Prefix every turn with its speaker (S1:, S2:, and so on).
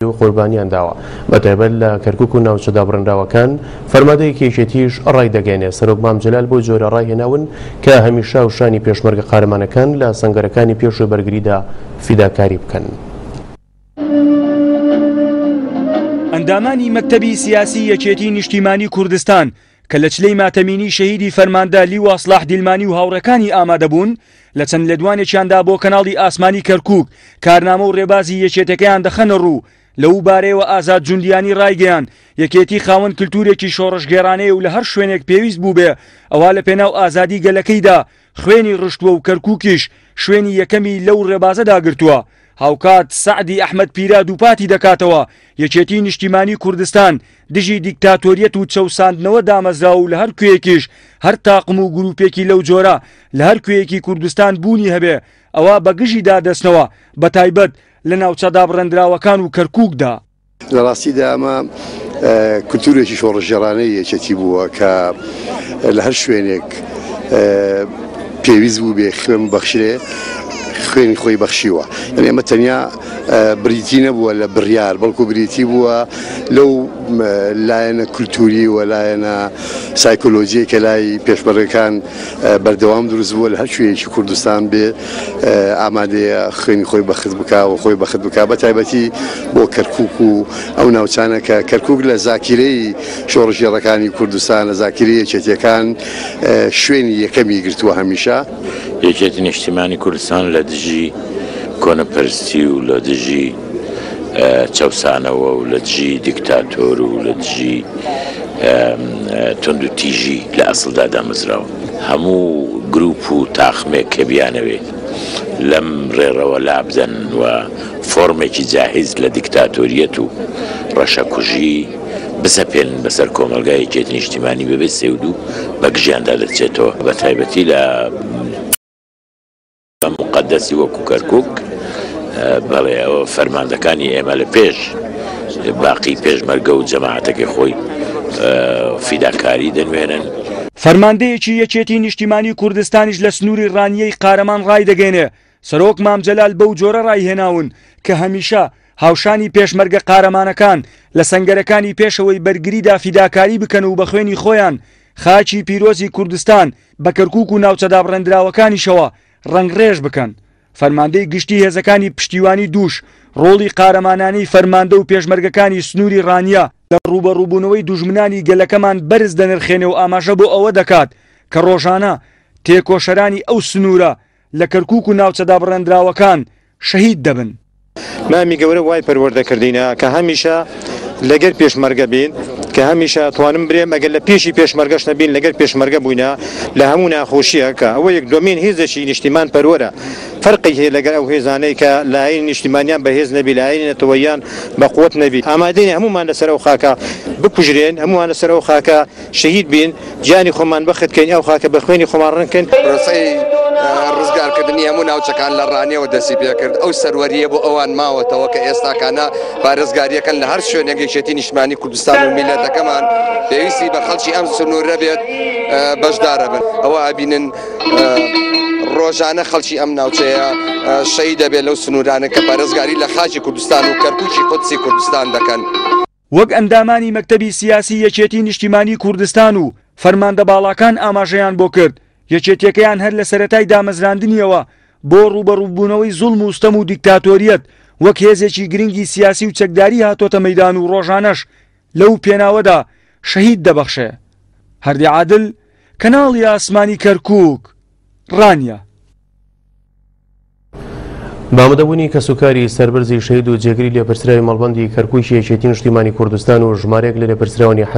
S1: و قوربانیان داوە بەتایبەت لە کەرکوک و ناوچە دابڕێنراوەکان، فەرماندەیەکی یەکێتیش ڕایدەگەیەنێ سەرۆک مام جەلال بەو جۆرە ڕایهێناون کە هەمیشە هاوشانی پێشمەرگە قارەمانەکان لە سەنگەرەکانی پێش و بەرگریدا فیداکاری بکەن.
S2: ئەندامانی مەکتەبی سیاسی یەکێتی نیشتیمانی کوردستان کە لە چلەی ماتەمینی شەهیدی فەرماندە لیوا سڵاح دیلمانی و هاوڕێکانی ئامادەبوون، لە چەند لێدوانێکیاندا بۆ کەناڵی ئاسمانی کەرکووک کارنامە و ڕێبازی یەکێتەکەیان دەخەنە ڕوو، لەو بارەیەوە ئازاد جوندیانی ڕایگەیاند، یەکێتی خاوەن کلتورێکی شۆڕشگێڕانەیە و لە هەر شوێنێک پێویست بووبێ ئەوا لە پێناو ئازادی گەلەکەیدا خوێنی ڕشتووە و کەرکووکیش شوێنی یەکەمی لەو ڕێبازەدا گرتووە. هاوکات سەعدی ئەحمەد پیرە دووپاتی دەکاتەوە، یەکێتیی نیشتیمانیی کوردستان دژی دیکتاتۆریەت و چەوساندنەوە دامەزراوە و لە هەر کوێیەکیش هەر تاقم و گرووپێکی لەو جۆرە لە هەر کوێیەکی کوردستان بوونی هەبێ ئەوا بە گژیدا دەچنەوە بەتایبەت لە ناوچە دابڕێندراوەکان و کەرکووکدا.
S3: لە ڕاستیدا ئەمە کولتوورێکی شۆڕشگێڕانەی یەکێتی بووە کە لە هەر شوێنێک پێویست بوو بێ خوێن بەخشرێ خوێنی خۆی بەخشیوە یعنی ئەمە تەنیا بریتی نەبووە لە بڕیار بەڵکو بریتی بووە لەو لایەنە کولتوری و لایەنە سایکۆلۆژیە کە لای پێشمەرگەکان بەردەوام دروست بووە لە هەر کوێیەکی کوردستان بێ ئامادەیە خوێنی خۆی بەخت بکا و خۆی بەخت بکا بە تایبەتی بۆ کەرکوک و ئەو ناوچانە کە کەرکوک لە زاکیرەی شۆڕشگێڕەکانی کوردستان لە زاکیرەی یەکێتیەکان شوێنی یەکەمی گرتووە هەمیشە.
S4: یەکێتی نیشتیمانی کوردستان لە دژی کۆنەپەرستی و لە دژی چەوسانەوە و لە دژی دیکتاتۆر و لە دژی توندوتیژی لە ئەسڵدا دامەزراوە. هەموو گروپ و تاقمێک کە بیانەوێ لەم ڕێڕەوە لابدەن و فۆرمێکی جاهیز لە دیکتاتۆریەت و ڕەشەکوژی بسەپێنن بەسەر کۆمەڵگای یەکێتی نیشتیمانی بەبێ سێودوو بەگژیاندا دەچێتەوە بەتایبەتی لە موقەدەسی وەکو کەرکوک، بەڵێ ئەوە فەرماندەکانی ئێمە لە پێش باقی پێشمەرگە و جەماعەتەکەی خۆی فیداکاری دەنوێنن.
S2: فەرماندەیەکی یەکێتی نیشتیمانی کوردستانیش لە سنووری ڕانیەی قارەمان ڕایدەگەینێ، سەرۆک مام جەلال بەو جۆرە ڕایهێناون کە هەمیشە هاوشانی پێشمەرگە قارەمانەکان لە سەنگەرەکانی پێشەوەی بەرگریدا فیداکاری بکەن و بە خوێنی خۆیان خاکی پیرۆزی کوردستان بە کەرکوک و ناوچە دابڕێندراوەکانیشەوە ڕەنگڕێژ بکەن. فەرماندەی گشتی هێزەکانی پشتیوانی دووش ڕۆڵی قارەمانانەی فەرماندە و پێشمەرگەکانی سنووری ڕانیە لە ڕووبەڕووبوونەوەی دوژمنانی گەلەکەمان بەرز دەنرخێنێ و ئاماژە بۆ ئەوە دەکات کە ڕۆژانە تێکۆشەرانی ئەو سنوورە لە کەرکوک و ناوچە دابڕێندراوەکان شەهید دەبن.
S5: مامی گەورە وای پەروەردە کردینە کە هەمیشە لەگەر پێشمەرگە بین کە هەمیشە توانم برێم ئەگەر لە پێشی پێشمەرگەش نەبین لەگەر پێشمەرگە بووینە لە هەموو ناخۆشیە کە ئەوە یەک دومین هێزێکی نیشتیمان پەروەرە فەرقی هەیە لەگەر ئەو هێزانەی کە لایەنی نیشتیمانیان بەهێز نەبی لایەنی نەتەوەیان بە قوت نەبی ئامادەین هەموومان لەسەر ئەو خاکە بکوژرێن هەمووان لەسەر ئەو خاکە شەهید بین گیانی خۆمان بەخت کەین ئەو خاکە بە خوێنی خۆمان ڕەنگ کەین.
S6: پرۆسەی ڕزگارکردنی هەموو ناوچەکان لە ڕانیەوە دەستی پێکرد، ئەو سەروەرییە بۆ ئەوان ماوەتەوە کە ئێستاکانە پارێزگارییەکەن لە هەر شوێنێک یەکێتی نیشتمانی کوردستان و میللەتەکەمان پێویستی بە خەڵکی ئەم سنوورە بێت بەشدارە بن. ئەوە ئەبینن ڕۆژانە خەڵکی ئەم ناوچەیە شەهید دەبێت لەو سنوورانە کە پارێزگاری لە خاکی کوردستان و کەرکوکی قودسی کوردستان دەکەن.
S2: وەک ئەندامانی مەکتەبی سیاسی یەکێتی نیشتیمانی کوردستان و فەرماندە باڵاکان ئاماژەیان بۆ کرد، یەکێتیەکەیان هەر لە سەرەتای دامەزراندنیەوە بۆ ڕووبەڕووبوونەوەی زوڵم و ستەم و دیکتاتۆریەت وەک هێزێکی گرنگی سیاسی و چەکداری هاتۆتە مەیدان و ڕۆژانەش لەو پێناوەدا شەهید دەبەخشێ. هەردی عادل، کەناڵی ئاسمانی کەرکووک، ڕانیە.
S1: بە ئامادەبوونی کەسوکاری سەربەرزی شەهید و جێگری لێپرسراوی مەڵبەندی کەرکووکی یەکێتی نیشتیمانی کوردستان و ژمارەیەک لە لێپرسراوانی حەشد.